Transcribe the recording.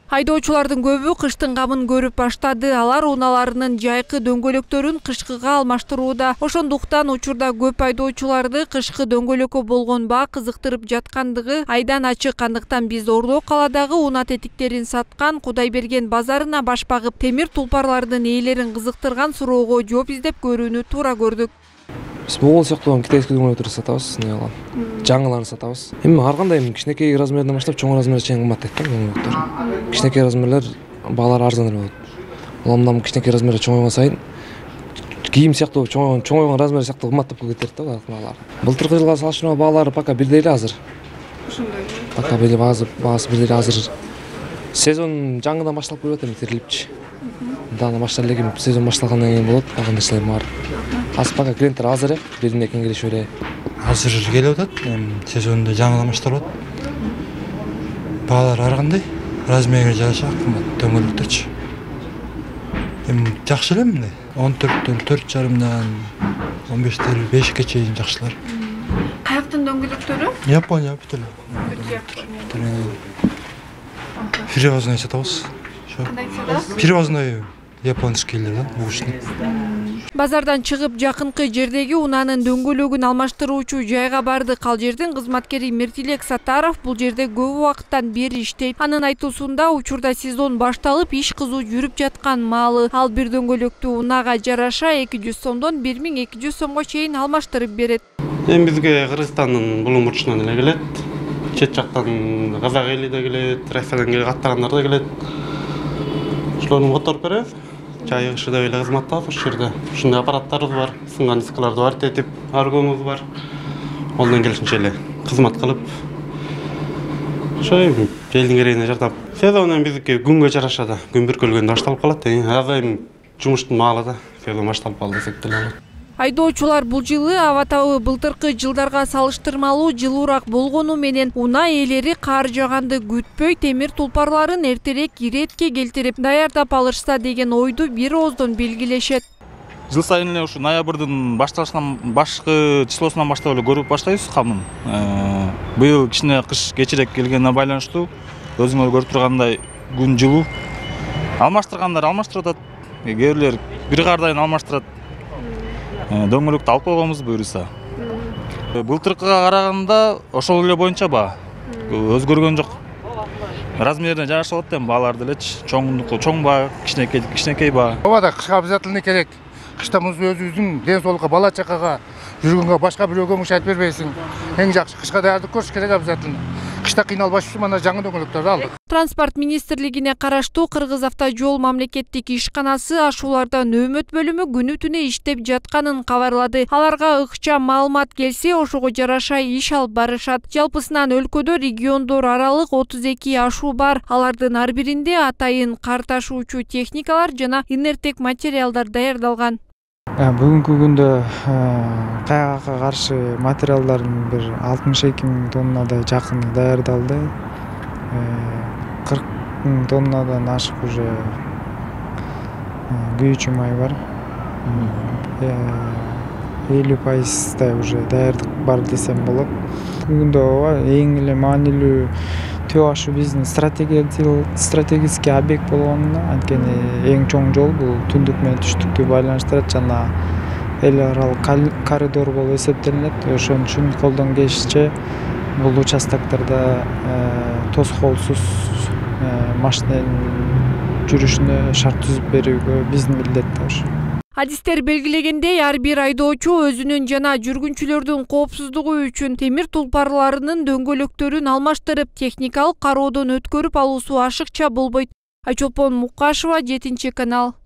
Айдоочулардын көбү кыштын камын көрүп баштады. Алар унааларынын жайкы дөңгөлөктөрүн кышкыга алмаштырууда. Ошондуктан учурда көп айдоочуларды кышкы дөңгөлөккө болгон баа кызыктырып жаткандыгы айдан ачык. Андыктан биз Ордо калаадагы унаа тетиктерин саткан Кудайберген базарына баш багып, темир тулпарлардын ээлерин кызыктырган суроого жооп издеп көрүүнү туура көрдүк. Биз могул сыяктуу китайский дөңгөлөктөрдү сатабыз, жаңыларын сатабыз. Эми ар кандай кичинекей размерден баштап чоң размерге чейин кымбаттайт да дөңгөлөктөр. Кичинекей размерлер баалары арзан болот. Ал мындан кичинекей размерге чоңойгон сайын кийим сыяктуу чоңойгон размер сыяктуу кымбаттап кетет да баалар. Былтыркы жылга салыштырмалуу баалары пока бирдей эле азыр. Ошондой. Пока баасы бирдей эле азыр. Сезон жаңыдан башталып келип атат, терилипчи. Дана башталып эле, сезон башталгандан кийин болот, калган нерселер бар. Азыр пока клиенттер аз эле, бирине экен келишип эле. Азыр келип атат, сезонду жаңыдан башталып атат. Баалар ар кандай, размерге жараша кымбат дөңгөлөктөрчү. Жакшы эле мындай. 14төн 4,5дан 15тен 5ке чейин жакшылар. Каяктын дөңгөлөктөрү? Япония бүт эле. Перевозной сатабыз. Кандай сатасыз? Перевозной японскийлер да, угушный. Базардан чыгып жакынкы жердеги унаанын дөңгөлөгүн алмаштыруучу жайга бардык. Ал жердин кызматкери Мертилек Сатаров бул жерде көп убакыттан бери иштейт. Анын айтуусунда учурда сезон башталып, иш кызуу жүрүп жаткан маалы. Ал бир дөңгөлөктү унаага жараша 200 сомдон 1200 сомго чейин алмаштырып берет. Эми бизге Кыргызстандын булуң бурчунан эле келет. Чет жактан казак эли да келет, Россиядан каттагандар да келет. Ошолорду которуп беребиз. Чай кышы да эле кызматтабыз ушул жерде. Ушундай аппараттарыбыз бар, сынган дискаларды бар, тетип, аргонубуз бар. Олдон келишинче эле кызмат кылып, ошо элдин керегине жардам. Сезон эми биздики күнгө жараша да, күн бүркөлгөндө башталып калат. Азайым жумуштун маалы да, сезон башталып калды десек деле болот. Айдоочулар бул жылы аба табы былтыркы жылдарга салыштырмалуу жылуураак болгону менен унаа ээлери кар жаганды күтпөй темир тулпарларын эртерээк иретке келтирип даярдап алышса деген ойду бир ооздон белгилешет. Жыл сайын эле ушу ноябрдын башкы числосунан баштап эле көрүп баштайбыз камын. Быйыл кичине кыш кечирээк келгенине байланыштуу өзүңөр көрүп тургандай күн жылуу. Алмаштыргандар алмаштырып атат. Кээ бирлер бир кардайын алмаштырат. Дөңгөлөктү алып койгонбуз буюрса. Былтыркыга караганда ошол эле боюнча баа өзгөргөн жок. Размерине жараша болот эми баалар делечи. Чоң баа, кичинекей баа. Ооба да кышка обязательно керек. Кышта муз өзүбүздүн ден соолукка, бала чакага жүргөнгө башка бирөөгө муш айтып бербейсиң. Эң жакшы кышка даярдык көрүш керек обязательно. Кышта кыйналбаш үчүн мына жаңы дөңгөлөктөрдү алдык. Транспорт министрлигине караштуу Кыргыз автожол мамлекеттик ишканасы ашуулардан өмөт бөлүмү күнү түнү иштеп жатканын кабарлады. Аларга ыкчам маалымат келсе, ошого жараша иш алып барышат. Жалпысынан өлкөдө региондор аралык 32 ашуу бар. Алардын ар биринде атайын кар ташуучу техникалар жана инерттик материалдар даярдалган. Бүгүнкү күндө кайгакка каршы материалдардын бир 62 000 тоннадай жакыны даярдалды. 40 000 тоннадан ашык уже күйүүчү май бар. 50% уже даярдык бар десем болот. Бүгүндө эң эле маанилүү Төө ашуу биздин стратегический объект болгонуна, анткени эң чоң жол бул түндүк менен түштүктү байланыштырат жана эл аралык коридор болуп эсептелинет. Ошон үчүн колдон келишинче бул участоктарда тоскоолсуз машинанын жүрүшүнө шарт түзүп берүүгө биздин милдет да ошо. Адистер белгилегендей, ар бир айдоочу өзүнүн жана жүргүнчүлөрдүн коопсуздугу үчүн темир тулпарларынын дөңгөлөктөрүн алмаштырып, техникалык кароодон өткөрүп алуусу ашыкча болбойт. Айчолпон Мукашева, 7 канал.